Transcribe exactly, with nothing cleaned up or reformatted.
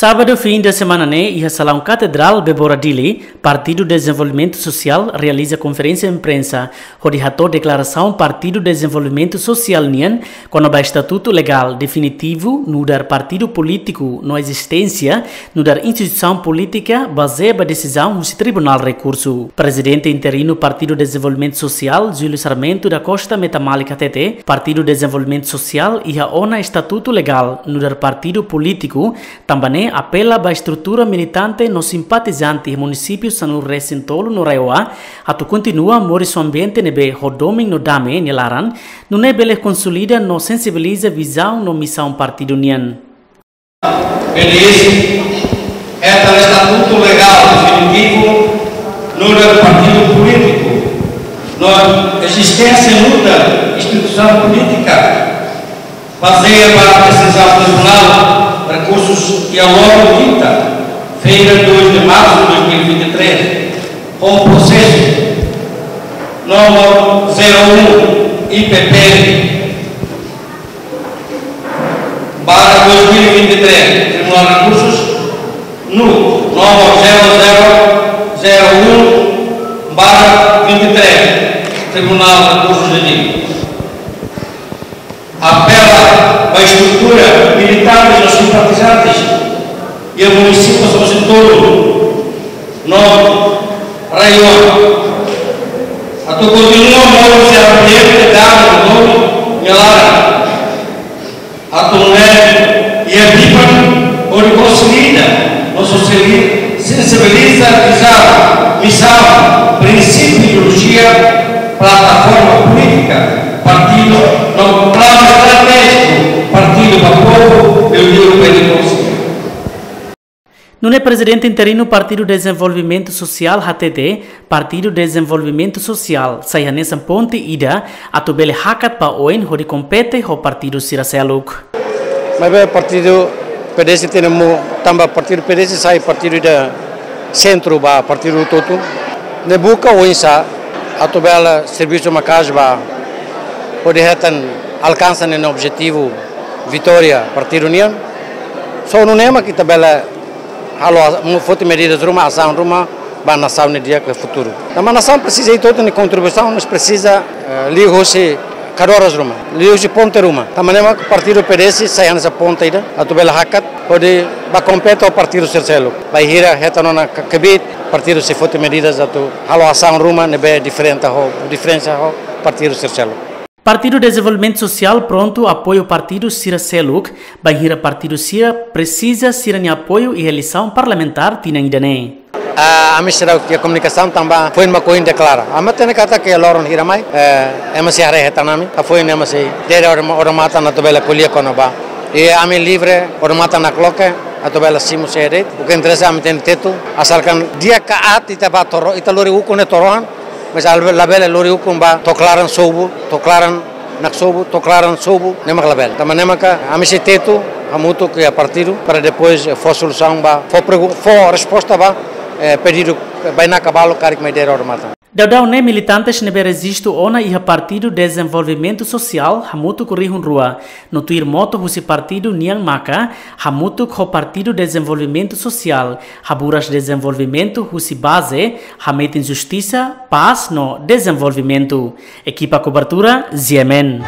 Sábadu fin de semana ne'e, iha Salaun Katedrál, Bebora, Dili, Partidu Dezenvolvimentu Sosiál realiza konferénsia imprensa hodi hato'o deklarasaun Partidu Dezenvolvimentu Sosiál nian kona-ba estatutu legál definitivu, nu'udar partidu polítiku no ezisténsia, nu'udar instituisaun polítika bazeia ba desizaun husi Tribunál Rekursu. Prezidente interinu Partidu Dezenvolvimentu Sosiál, Júlio Sarmento da Costa Metamalik hatete, Partidu Dezenvolvimentu Sosiál iha ona estatutu legál nu'udar partidu polítiku, tanba ne'e apela ba estrutura militante no simpatizante iha munisípiu sanulu-resin-tolu no RAEOA atu kontinua moris ho ambiente ne'ebé ho domin no dame nia laran, nune'e bele konsolida no sensibiliza vizaun no misaun partidu nian. P D S hetan estatutu legál definitivu nu'udar partidu polítiku no ezisténsia nu'udar instituisaun polítika, bazeia ba desizaun Tribunál Rekursus iha loron kinta-feira, dois de março de dois mil e vinte e três, ho prosesu númeru zero um I P P barra dois mil e vinte e três, Tribunál Rekursus, no númeru zero zero zero um barra vinte e três, Tribunál Rekursus de Dili. Apela ba estrutura militante no simpatizante iha munisípiu sanulu-resin-tolu no RAEOA atu kontinua moris ho ambiente dame no domin nia laran, atu nune'e iha biban hodi konsolida no sosiali-, sensibiliza vizaun, misaun, prinsípiu, ideolojia, plataforma polítika partidu no planu estratéjiku Partidu ba Povu, liuliu P D S. Nune'e Prezidente interinu Partidu Dezenvolvimentu Sosiál hatete, Partidu Dezenvolvimentu Sosiál sai hanesan ponte ida atu bele hakat ba oin hodi kompete ho partidu sira seluk. Maibé partidu P D S tenke mu, tanba partidu P D S sai partidu ida sentru ba partidu hotu-hotu. Ne'e buka oinsá atu bele servisu maka'as ba hodi hetan alkansa ninia objetivu vitória partidu nian. Só nune'e mak ita bele halo a-, mu foti medidas ruma, asaun ruma ba nasaun nia di'ak iha futuru. Tanba nasaun presiza ita hotu nia kontribuisaun, mas presiza, eh, liuhusi kadeira ruma, liuhusi ponte ruma. Tanba ne'e mak partidu P D S sai hanesan ponte ida atu bele hakat hodi bá kompete ho partidu sira seluk. Bainhira hetan ona ka-, kbiit, partidu sei foti medidas atu halo asaun ruma ne'ebé diferente ho, diferensa ho partidu sira seluk. Partidu Dezenvolvimentu Sosiál prontu apoiu partidu sira seluk, bainhira partidu sira presiza sira-nia apoiu iha eleisaun parlamentár tinan ida-ne'e. Ah, ami seidauk iha komunikasaun tanba foin mak ohin deklara. Ami hatene katak iha loron hira mai, eh, ema sei haree hetan ami. Hafoin ema sei dere odam-, odamatan atu bele ko'alia kona-ba. I ami livre, odamatan nakloke atu bele simu sé de'it. O ke interese ami tenke tetu. Asalkan di'ak ka aat ita bá to'o, ita lori ukun ne'e to'o oan. Mas labele, labele lori ukun ba to'o klaran sobu, to'o klaran naksobu, to'o klaran sobu, ne'e mak labele. Tanba ne'e maka ami sei tetu hamutuk iha partidu para depois, eh, fó solusaun ba, fó pregu-, fó resposta ba, eh, pedidu, eh, bainaka balu karik mai dere odamatan. Daudaun ne'e militantes ne'ebé rejistu ona iha Partidu Dezenvolvimentu Sosiál hamutuk rihun rua no tuir motu husi partidu nian maka hamutuk ho Partidu Dezenvolvimentu Sosiál, haburas dezenvolvimentu husi baze, hametin justisa, pás no dezenvolvimentu. Ekipa kobertura, G M N.